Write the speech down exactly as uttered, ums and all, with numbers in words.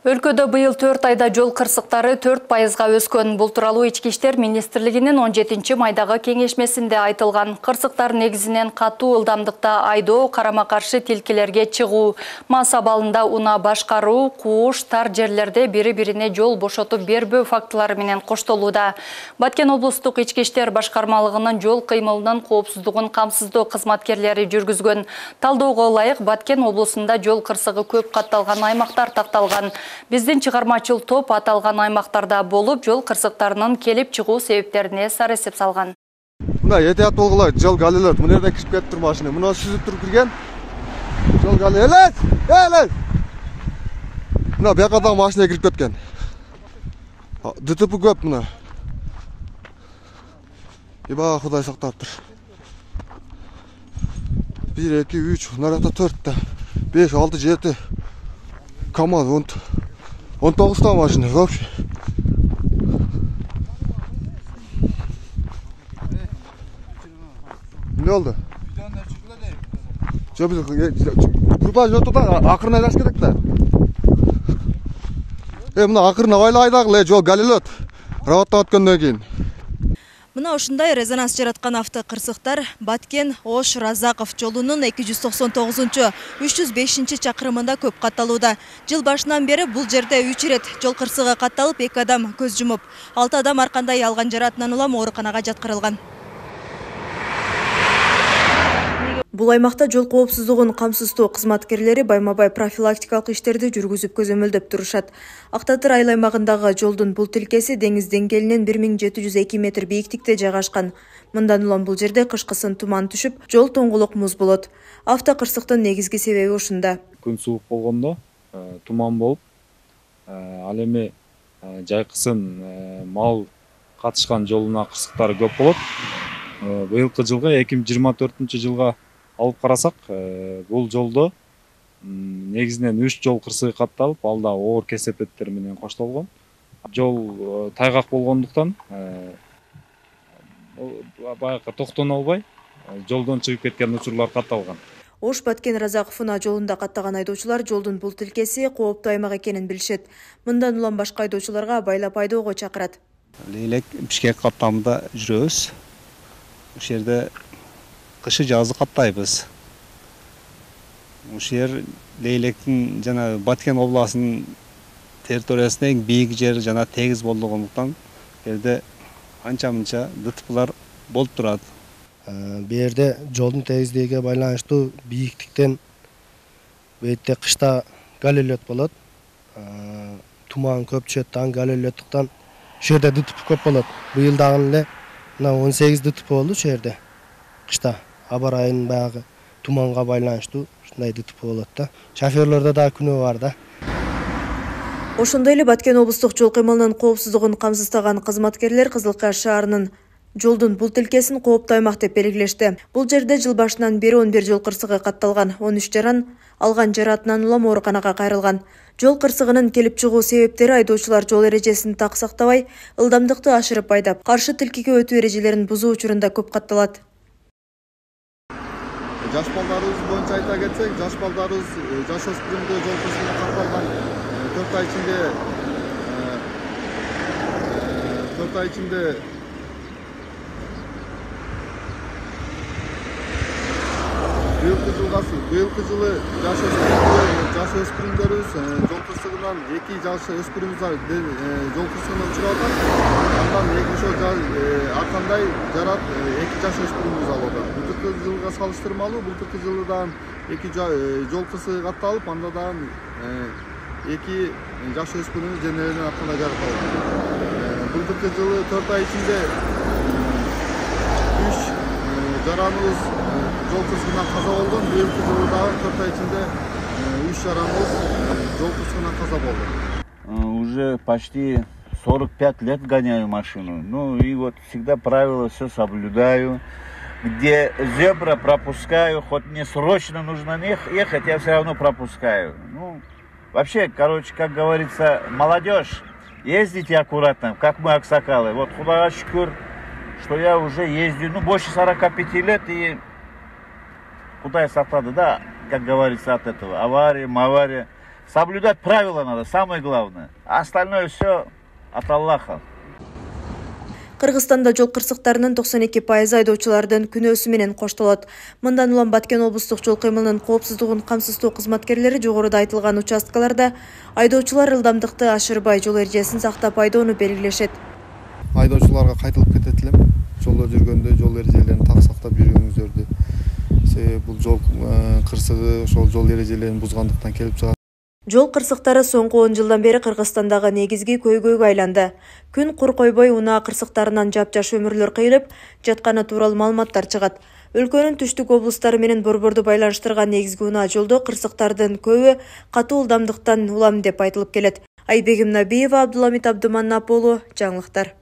Өлкөдө быйыл төрт айда жол кырсыктары төрт пайызга өскөн. Бул тууралуу Ички иштер министрлигинин он жетинчи майдагы кеңешмесинде айтылган. Кырсыктар негизинен катуу ылдамдыкта айдоо, карама-каршы тилкелерге чыгуу, мас абалында унаа башкаруу, кууш, тар жерлерде бири-бирине жол бошотуп бербөө фактылары менен коштолууда. Баткен облустук Ички иштер башкармалыгынын жол кыймылынын коопсуздугун камсыздоо кызматкерлери жүргүзгөн. Талdoого ылайык Баткен облусунда жол кырсыгы көп катталган аймактар такталган. Биздин чыгармачыл топ аталган аймактарда болуп, жол кырсыктарынын келип чыгуу себептерине сар эсеп салган. Мына этият болгула, жол галилет. Мына жерден кирип кетиптир машина. Мына сүзүп туруп кирген. Жол галилет. Элес. Мына бияка да машина кирип кеткен. ДТП көп мына. Иба Кудай сактаптыр. бир, эки, үч, мына жакта төрт та, беш, алты, жети. КамАЗ он тогуз та машина вообще. Не oldu? Жо биз курбан жотуда акырын айлаш керек да. Э мына акырын айлайдагы жол галилет. Работтан өткөндөн кийин. Мына ушундай резонанс жараткан автокырсыктар Баткен Ош Разаков жолунун эки жүз токсон тогузунчу үч жүз бешинчи чакырымында көп катталууда. Жыл башынан бери бул жерде үч ирет жол кырсыгы катталып, эки адам көз жумуп, алты адам ар кандай алган жаратынан улам ооруканага жаткырылган. Бул аймакта жол коопсуздугун камсыздоо кызматкерлери байма-бай профилактикалык иштерди жүргүзүп көзөмөлдөп турушат. Актатыр айыл аймагындагы жолдун бул тилкеси деңиз деңгээлинен бир миң жети жүз эки метр бийиктикте жайгашкан. Мындан улам бул жерде кышкысын туман түшүп, жол тоңгулук муз болот. Автокырсыктын негизги себеби ушунда. Күн суук болгондо туман болуп, ал эми жайкысын мал катышкан жолуна кырсыктары көп болот. Быйылкы жылга эки миң жыйырма төртүнчү жылга алып карасак, бул жолдо негизинен үч жол кырсыгы катталып, алда оор кесепеттер менен коштолгон. Жол тайгак болгондуктан баягы токтоно албай, жолдон чыгып кеткен учурлар катталган. Ош Баткен Разаков унаа жолунда каттаган айдоочулар жолдун бул тилкеси кооптуу аймак экенин билишет. Мындан улам башка айдоочуларга байлап айдоого чакырат. Лейлек Бишкек каттамында жүрөбүз. Ушул жерде кышы жазы каттайбыз. Ушул жер Лейлектин жана Баткен областынын территориясында эң бийик жер жана тегиз болгондуктан жерде анча-мынча ДТПлар болуп турат. Бу жерде жолдун тегиздиgiге байланыштуу бийиктиктен бу жерде кышта галилет болот. Туман көп түшөт, таң галилеттиктен ушул жерде ДТП көп болот. Быйыл дагы эле мына он сегиз ДТП болду ушул жерде. Кышта аба ырайынын баягы туманга байланыштуу ушундай ДТП болот да. Шоферлордо да күнөө бар да. Ошондой эле Баткен облустук жол кыймылынын коопсуздугун камсыздаган кызматкерлер Кызылкая шаарынын жолдун бул тилкесин кооптуу аймак деп белгилешти. Бул жерде жыл башынан бери он бир жол кырсыгы катталган, он үч жаран алган жаратынан улам ооруканага кайрылган. Жол кырсыгынын келип чыгуу себептери айдоочулар жол эрежесин так сактабай, ылдамдыкты ашырып айдап, каршы тилкеге өтүү эрежелерин бузуу учурунда көп катталат. Жаш балдарыбыз боюнча айта кетсек, жаш балдарыбыз жаш өспүрүмдө жол кырсыгына катталган төрт ай ичинде төрт ай ичинде быйылкы жылгасы быйылкы жылы жаш жаш өспүрүмдөрүбүз жол кырсыгынан эки жаш өспүрүмүбүз жол кырсыгына учураган. Андан эки ошол ар кандай жарат эки жаш өспүрүмүбүз алууда. Былтыркы жылга салыштырмалуу былтыркы жылы дагы эки жол кырсыгы катталып, анда дагы эки жаш өспүрүмүбүз денелеринен ар кандай жарат алган. Былтыркы жылы төрт ай ичинде үч жараныбыз жол кырсыгынан каза болгон. Быйылкы жылы дагы төрт ай ичинде үч жараныбыз жол кырсыгынан каза болду. Уже почти сорок пять лет гоняю машину. Ну и вот всегда правила все соблюдаю. Где зебра пропускаю, хоть мне срочно нужно ехать, я все равно пропускаю. Ну, вообще, короче, как говорится, молодежь, ездите аккуратно, как мы аксакалы. Вот Худайга шүкүр, что я уже ездил, ну, больше сорока пяти лет, и Кудай сактады, да, как говорится, от этого. Авария, авария. Соблюдать правила надо, самое главное. А остальное все от Аллаха. Кыргызстанда жол кырсыктарынын токсон эки пайызы айдоочулардын күнөөсү менен коштолот. Мындан улам Баткен облустук жол кыймылынын коопсуздугун камсыздоо кызматкерлери жогоруда айтылган участкаларда айдоочулар ылдамдыкты ашырбай жол эрежесин сактап айдоону белгилешет. Айдоочуларга кайтылып кетет элем. Жолдо жүргөндө жол эрежелерин так сактап жүрүүңүздөрдү. Себеби бул жол кырсыгы ошол жол эрежелерин бузгандыктан келип чыгат. Жол кырсыктары соңку он жылдан бери Кыргызстандагы негизги көйгөйгө айланды. Күн кур койбой унаа кырсыктарынан жапжаш өмүрлөр кыйылып жатканы тууралуу маалыматтар чыгат. Өлкөнүн түштүк облустары менен Борборду байланыштырган негизги унаа жолдо кырсыктардын көбү катуу ылдамдыктан улам деп айтылып келет. Айбегим Набиева, Абдуламит Абдуманап уулу, жаңылыктар.